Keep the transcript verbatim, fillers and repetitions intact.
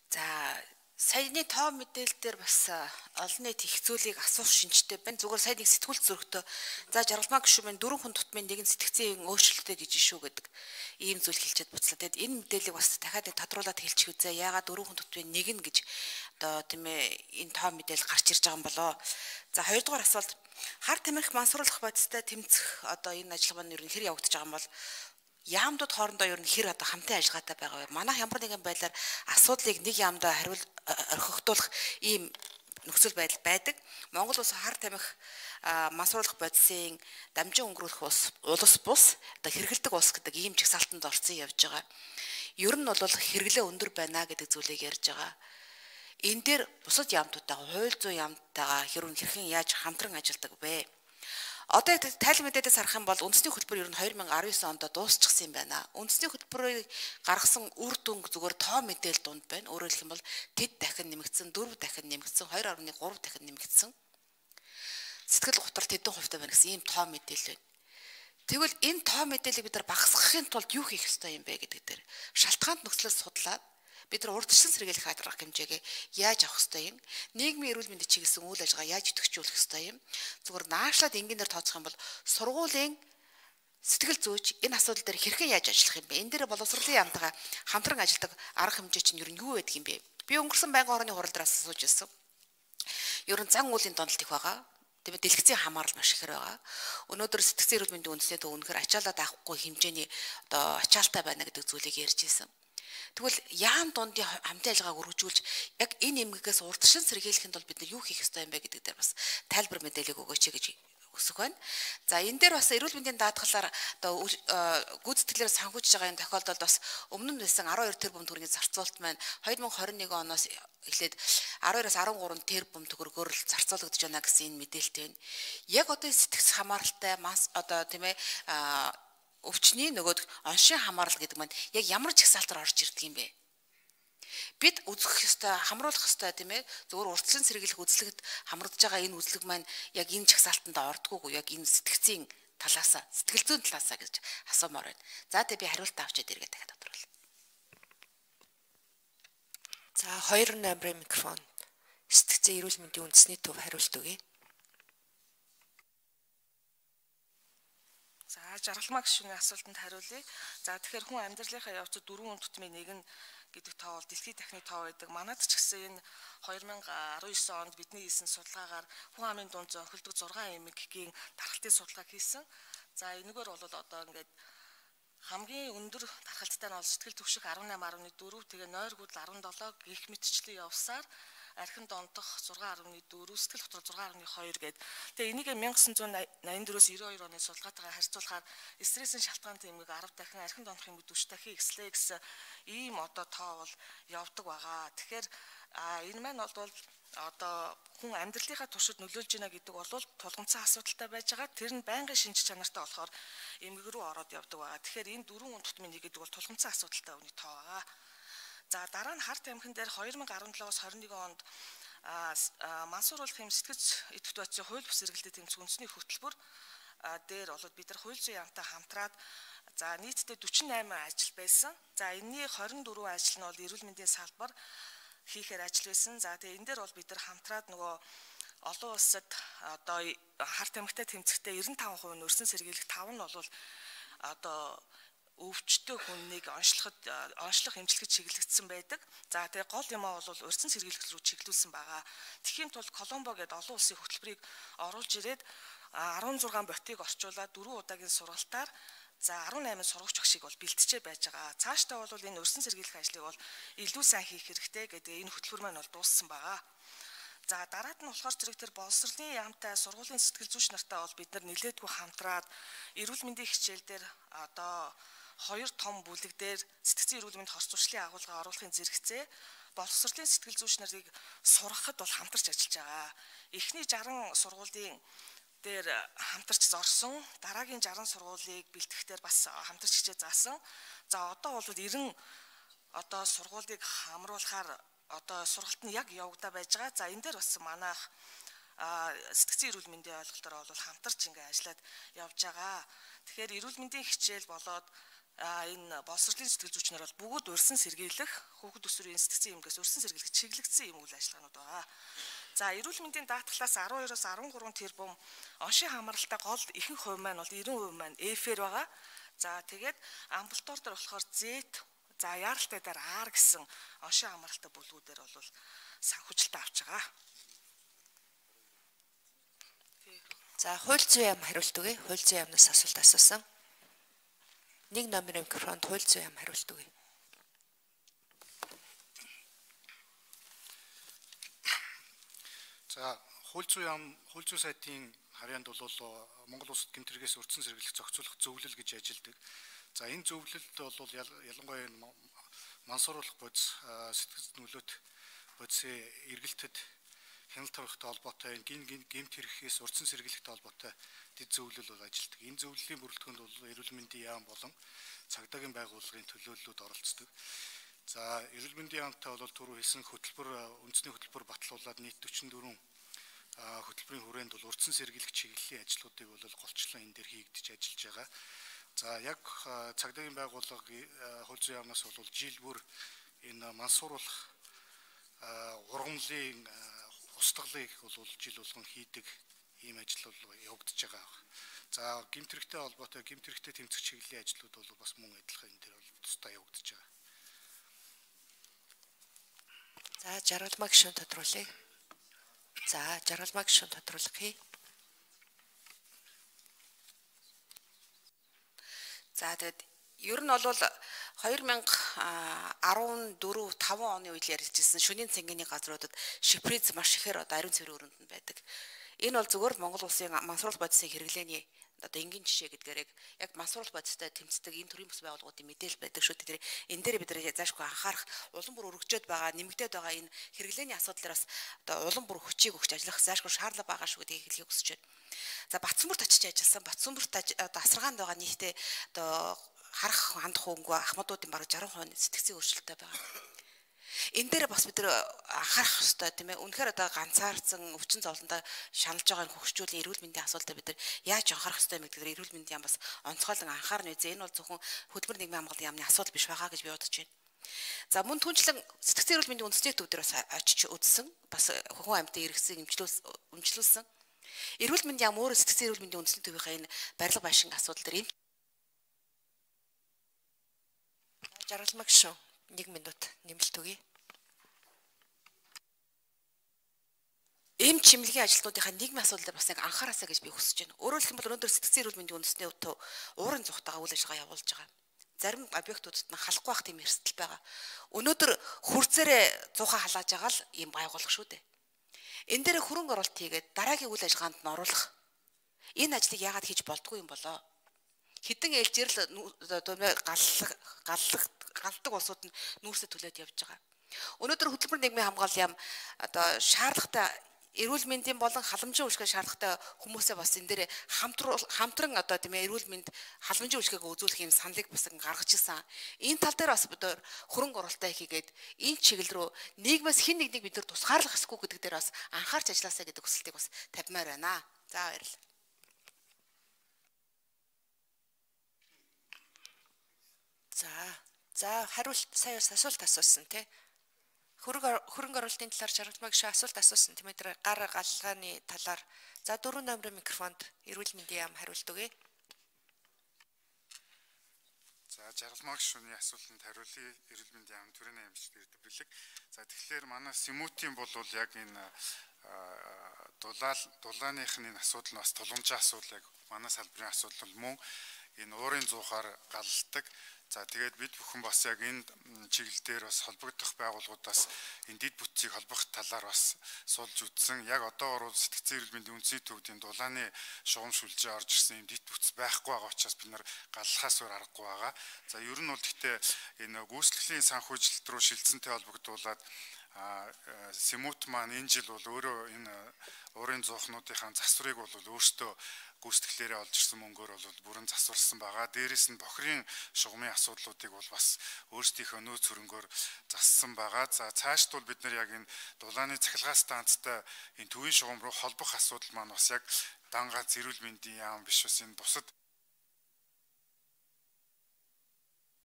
За саяны тоо мэдээлэл дээр бас олон нийт их зүйлийг асуух шинжтэй байна. Зүгээр сайн нэг сэтгүүл зөрөгтөө за жаргалмаа гişүмэн дөрвөн хүн тутмын нэгэн сэтгцийн өөрчлөлттэй гэж шүү гэдэг ийм зүйл хэлчихэд буцлаа. Тэгэд энэ мэдээллийг бас дахиад тодруулаад хэлчих үзье. Яагаад дөрвөн хүн тутмын нэг нь гэж одоо тийм ээ энэ тоо мэдээлэл гарч ирж байгаа юм болоо. За хоёрдугаар асуулт хар тамхи мансруулах бодистой тэмцэх одоо энэ ажиллагаа нь ер нь хэр явагдаж байгаа юм бол яамдууд хоорондоо ер нь хэр одоо хамтын ажиллагаатай байгаа вэ? Манайх ямар нэгэн байдлаар асуудлыг нэг яамдаа хариул орхигдуулах ийм нөхцөл байдал байдаг. Монгол улс хар тамхи мансруулах бодисын дамжин өнгөрүүлэх улс улс бус одоо хэрэгэлдэг улс гэдэг ийм чагсаалтанд орсон явж байгаа. Ер нь бол хэрэглээ өндөр байна гэдэг зүйлийг ярьж байгаа. Энэ дээр бусад яамдуудтайгаа хууль зүйн яамдтайгаа хэрүүн хэрхэн яаж хамтран ажилладаг вэ? Одоо тайлбар мэдээдээс харах юм бол үндэсний хөтөлбөр ер нь две тысячи десять онд дуусчихсан юм байна. Үндэсний хөтөлбөрийг гаргасан үр дүнг зүгээр тоо мэдээлэл дунд байна. Өөрөөр хэлэх юм бол тэд дахин нэмэгдсэн, дөрвөн дахин нэмэгдсэн, two point three дахин нэмэгдсэн. Сэтгэл готрол тэдэн хувьтай байна гэсэн ийм тоо мэдээлэл байна. Тэгвэл энэ тоо мэдээллийг бид нар багасгахын тулд юу хийх ёстой юм бэ гэдэг дээр шалтгаанд нөхцлөөс судлаад бид нар урдчлан сэргийлэх хадрах хэмжээгээ яаж авах ёстой юм? Нийгмийн эрүүл мэндийн чиглэсэн үйл ажиллагаа яаж идэвхжүүлэх ёстой юм? Зүгээр наашлаад энгийнээр тооцох юм бол сургуулийн сэтгэл зүйч энэ асуудал дээр хэрхэн яаж ажиллах юм бэ? Энэ дээр боловсролын яамтайгаа хамтран ажилладаг арга хэмжээ чинь ер нь юу байдаг юм бэ? Би өнгөрсөн байнгын орны хурал дээрээс асууж ирсэн. Ер нь зан уулийн дондолт их байгаа. Тэгээд дэлгэцийн хамаарал маш ихээр байгаа. Өнөөдөр сэтгцийн эрүүл мэндийн үндэснээ төв үнэхээр ачаалаад авахгүй хэмжээний одоо ачаалтай байна гэдэг зүйлийг ярьж ирсэн. Тэгвэл яам дундын хамтын ажиллагааг өргөжүүлж яг энэ эмгэгээс урдчилан сэргийлэхэд бол бид нар юу хийх ёстой юм бэ гэдэг дээр бас тайлбар мэдээлэл өгөөч гэж хүсэх байна. За энэ дээр бас эрүүл мэндийн даатгалаар одоо гүйцэтгэлээр санхүүжж байгаа энэ тохиолдолд бас өмнө нь байсан twelve тэрбум төгрөгийн зарцуулалт маань two thousand twenty-one оноос эхлээд twelve-оос thirteen тэрбум төгрөгөөр л зарцуулагдж байна гэсэн энэ мэдээлэлтэй байна. Яг одоо сэтгц хамааралтай мас одоо тийм ээ өвчний нөгөөд оншийн хамаарал гэдэг маань яг ямар чагсаалтаар орж ирдэг юм бэ? Бид үзэх ёстой, хамруулах ёстой тийм ээ зөвхөн урдчлан сэргийлэх үзлэгт хамрагдж байгаа энэ үзлэг маань яг энэ чагсаалтанд ордгоогүй яг энэ сэтгцийн талаасаа, сэтгэл зүйн талаасаа гэж асуумаар байна. За тэгээ би хариулт авчиад эргээд дахиад тодруулъя. За two eight микрофон. Сэтгцийн эрүүл мэндийн үндэсний төв хариулт өгье. За жаргалмаа гişүний асуултанд хариулъя. За тэгэхээр хүн амьдралынхаа явцад дөрвөн тутмын нэг нь гэдэг тоо бол дэлхийн тахны тоо байдаг. Манайд ч гэсэн энэ two thousand nineteen онд бидний хийсэн судалгаагаар хүн амын дунд зөнхөлдөг six эмэггийн тархалтын судалгаа хийсэн. За энэгээр бол одоо ингээд хамгийн өндөр тархалттай нь бол сэтгэл түвших eighteen point four, тэгээ нойргууд seventeen гих мэтчлэн явсаар архин дондох six point four, сэтгэл готрол six point two гээд. Тэгээ энийг nineteen eighty-four-өөс ninety-two оны судалгаатайгаар харьцуулахаар стрессийн шалтгаантай эмэг ten дахин, архин дондох эмэг forty дахин ихслээ гэсэн ийм одоо тоо бол явдаг байгаа. Тэгэхээр энэ маань бол одоо хүн амьдралынхаа туршид нөлөөлж байна гэдэг бол тулгымцсан асуудалтай байж байгаа. Тэр нь байнгын шинж чанартай болохоор эмгэг рүү ороод явдаг байгаа. Тэгэхээр энэ дөрвөн тутмын нэг гэдэг бол тулгымцсан асуудалтай үний тоо байгаа. За дараа нь хар тамхин дээр two thousand seventeen-аас twenty-one онд мансууруулах юм сэтгэц идэвхт бодисын хууль бус эргэлтэд тэмцэх үндэсний хөтөлбөр дээр болоод бид нар хууль зүйн яамтай хамтраад за нийтдээ forty-eight ажил байсан. За энэний twenty-four ажил нь бол эрүүл мэндийн салбар хийхээр ажил байсан. За тэгээ энэ дээр бол бид нар хамтраад нөгөө олон улсад одоо хар тамхитай тэмцэхдээ ninety-five percent нь өрсөн сэргийлэх five нь бол одоо өвчтөй хүннийг онцлоход онцлох эмчилгэд чиглэгдсэн байдаг. За тэгээ гол юм аа бол урьдчилан сэргийлэх рүү чиглүүлсэн байгаа. Тэхийн тулд Коломбо гэдэг олон улсын хөтөлбөрийг оруулж ирээд sixteen ботыг орчуулад four удаагийн сургалтаар за eighteen сургагч багшийг бол бэлтжээ байж байгаа. Цаашдаа бол энэ урьдчилан сэргийлэх ажлыг бол илүү сайн хийх хэрэгтэй гэдэг энэ хөтөлбөр маань бол дууссан байгаа. За дараад нь болохоор зэрэг тэр боловсролын яамтай сургуулийн сэтгэл зүйч нартай бол бид нар нэлээдгүй хамтраад эрүүл мэндийн хичээл дээр одоо хоёр том бүлэг дээр сэтгцийн эрүүл мэнд хорц зуршлын агуулга оруулахын зэрэгцээ боловсролын сэтгэл зүйч нарыг сургахад бол хамтарч ажиллаж байгаа. Эхний sixty сургуулийн дээр хамтарч зорсон, дараагийн sixty сургуулийг бэлтгэхдээ бас хамтарч хичээ заасан. За одоо бол ninety одоо сургуулийг хамруулахаар одоо сургалт нь яг явагдаа байж байгаа. За энэ дээр бас манайх сэтгцийн эрүүл мэндийн ойлголтоор бол хамтарч ингээ ажиллаад явж байгаа. Тэгэхээр эрүүл мэндийн хичээл болоод а энэ боловсролын сэтгэл зүйчнэр бол бүгд урьсан сэргийлэх, хүүхэд өсвөрийн сэтгцэн эмгээс урьсан сэргийлэх чиглэгдсэн юм үйл ажиллагаанууд байгаа. За эрүүл мэндийн даатгалаас арван хоёроос арван гурван тэрбум оншийн хамааралтай гол ихэнх хувь маань бол девяносто хувь маань Эф-ээр байгаа. За тэгээд амбулатор дээр болохоор Z, за яаралтай дээр R гэсэн оншийн хамааралтай бүлгүүдээр бол санхүүжилтээ авч байгаа. За хууль зүйн яам хариулт өгье. Хууль зүйн яамнаас асуулт асуусан. Нэг номерын микрофонд хууль зүйн яам хариулт өгье. За хууль зүйн яам, хууль зүйн сайтын харьяанд бол Монгол Улсад гэмтэргээс урьдчилан сэргийлэх зохицуулах зөвлөл гэж ажилладаг. За энэ зөвлөлд бол ялангуяа мансууруулах бодис, сэтгэл нөлөөт бодисын эргэлтэд хяналт тавихтай холбоотой гин гэмт хэрэгээс урьдчилан сэргийлэхтэй холбоотой дэд зөвлөл бол ажилладаг. Энэ зөвлөлийн бүрэлдэхүүнд бол эрүүл мэндийн яам болон цагдаагийн байгууллагын төлөөллүүд оролцдог. За эрүүл мэндийн яамтай бол түрүү хэлсэн хөтөлбөр үндэсний хөтөлбөр батлуулаад нийт дөчнө дөрвөн хөтөлбөрийн хүрээнд бол урьдчилан сэргийлэх чиглэлийн ажлуудыг бол голчлон энэ дээр хийгдэж ажиллаж байгаа. За яг цагдаагийн байгууллага хууль зүйн яамнаас бол жил бүр энэ мансууруулах ургамлын устгалыг бол жил болгон хийдэг ийм ажил бол явагдаж байгаа. За гэмт хэрэгтэй холбоотой гэмт хэрэгтэй тэмцэх чиглэлийн ажлууд бол бас мөн адилхан энэ дээр бол тусдаа явагдаж байгаа. За жаргалмаа гишүүн тодруулъя. За жаргалмаа гишүүн тодруулъя. За тэгэд ер нь бол хоёр мянга арван дөрөв таван оны үед ярьжсэн шөнийн цэнгэний газруудад шиприз маш ихээр одоо ариун цэврийн өрөөнд нь байдаг. Энэ бол зөвхөн Монгол улсын мансууруулах бодисын хэрэглээний одоо энгийн жишээ гэдгээр яг мансууруулах бодистой тэмцдэг энэ төрлийн бүс байгууллагуудын мэдээлэл байдаг шүү дээ. Энэ дээр бид нэр заашгүй анхаарах улам бүр өргөжөөд байгаа нэмэгдээд байгаа энэ хэрэглээний асуудлаараас одоо улам бүр хүчийг өгч ажиллах заашгүй шаардлага байгаа шүү гэдгийг хэлхийг хүсэж байна. За Батцамбарт очиж ажилласан Батцамбарт одоо асаргаанд байгаа нийтдээ одоо харах хандах хөнгөө ахмадуудын бараг сарван хувийн сэтгцийн өөрчлөлттэй байгаа. Энэ дээр бас бид нэр анхаарах хэрэгтэй тийм ээ. Үнэхээр одоо ганцаарцсан өвчин зовлондоо шаналж байгаа хөгжүүлийн эрүүл мэндийн асуудалтай бид нар яаж анхаарах хэрэгтэй юм гэдгээр эрүүл мэндийн яам бас онцгойлон анхаарна үзье. Энэ бол зөвхөн хөтөлбөр нийгмийн хамгааллын яамны асуудал биш байгаа гэж би бодож байна. За мөн түнчлэн сэтгцийн эрүүл мэндийн үндэсний төв дээр бас очиж үзсэн. Бас хүн амьтан эргэсийг эмчлүүлсэн. Эрүүл мэндийн яам өөрөө сэтгцийн эрүүл мэндийн үндэсний төвийнхээ энэ барилга байшин асуудал дээр энэ жаргалмаа гишүүн нэг минут нэмэлт өгье. Эм чимлэгийн ажилтнуудынхаа нийгмийн асуудал дээр бас яг анхаараасаа гэж би хүсэж байна. Өөрөөр хэлбэл өнөөдөр сэтгцийн эрүүл мэндийн үндэсний төв уурын зүгтаага үйл ажиллагаа явуулж байгаа. Зарим объектуудад нь халахгүй байх тийм эрсдэл байгаа. Өнөөдөр хурцээрээ зуухаа халааж байгаа л ийм байгууллага шүү дээ. Энэ дээр хөрөнгө оруулалт хийгээд дараагийн үйл ажиллагаанд нь оруулах энэ ажлыг яагаад хийж болдгүй юм болоо? Хэдэн ээлжээр л галлах галлах галдаг улсууд нь нүүрсээ төлөөд явж байгаа. Өнөөдөр хөтөлбөр нийгмийн хамгааллын яам одоо шаардлагатай эрүүл мэндийн болон халамжийн үйлчлэгээ шаардлагатай хүмүүсээ бас энэ дээр хамтран одоо тийм ээ эрүүл мэнд халамжийн үйлчлэгээ үзүүлэх юм саналыг бас гаргаж ирсэн. Энэ тал дээр бас бид хөрөнгө оруулалтаа хийгээд энэ чиглэл рүү нийгмээс хэн нэгнийг бид нар тусгаарлах хэрэггүй гэдэг дээр бас анхаарч ажилласаа гэдэг хүсэлтийг бас тавьмаар байна. За баярлалаа. За за хариулт сая асуулт асуусан тий. Хөрөнгө хөрөнгө оруулалтын талаар жаргалмаа гишүүн асуулт асуусан тийм ээ гар галгааны талаар. За дөрвөн номерын микрофонд эрүүл мэндийн яам хариулт өгье. За жаргалмаа гишүүний асуултанд хариулъя. Эрүүл мэндийн яам төрийн аймагч дэрдэг бэлэг. За тэгэхээр манай Симотийн бол яг энэ дулаал дулааных нь энэ асуудал нь бас тулгамжийн асуудал яг манай салбарын асуудал мөн энэ уурын зуухаар галладаг. За тэгээд бид бүхэн бас яг энэ чиглэл дээр бас холбогдох байгууллагуудаас энэ дид бүтцийг холбох талаар бас суулж үзсэн. Яг одоогоор сэтгцийн эрүүл мэндийн үндэсний төвд энэ дулааны шугам шүлжээ орж ирсэн юм дид бүтц байхгүй байгаа учраас бид нар галлахаас өөр аргагүй байгаа. За ер нь бол гэхдээ энэ гүйцэтгэлийн санхүүжилт рүү шилжсэнтэй холбогдуулаад Симут маань энэ жил бол өөрөө энэ уурын зуухнуудынхаа засварыг бол өөртөө гүйцэтгэлээрээ олж ирсэн мөнгөөр бол бүрэн засварсан байгаа. Дээрээс нь бохирын шугамын асуудлуудыг бол бас өөрсдийнхөө нөөц хөрөнгөөр зассан байгаа. За цаашд бол бид нар яг энэ дулааны цахилгаан станцтай энэ төвийн шугам руу холбох асуудал маань бас яг дан ганц эрүүл мэндийн яам биш бас энэ бусад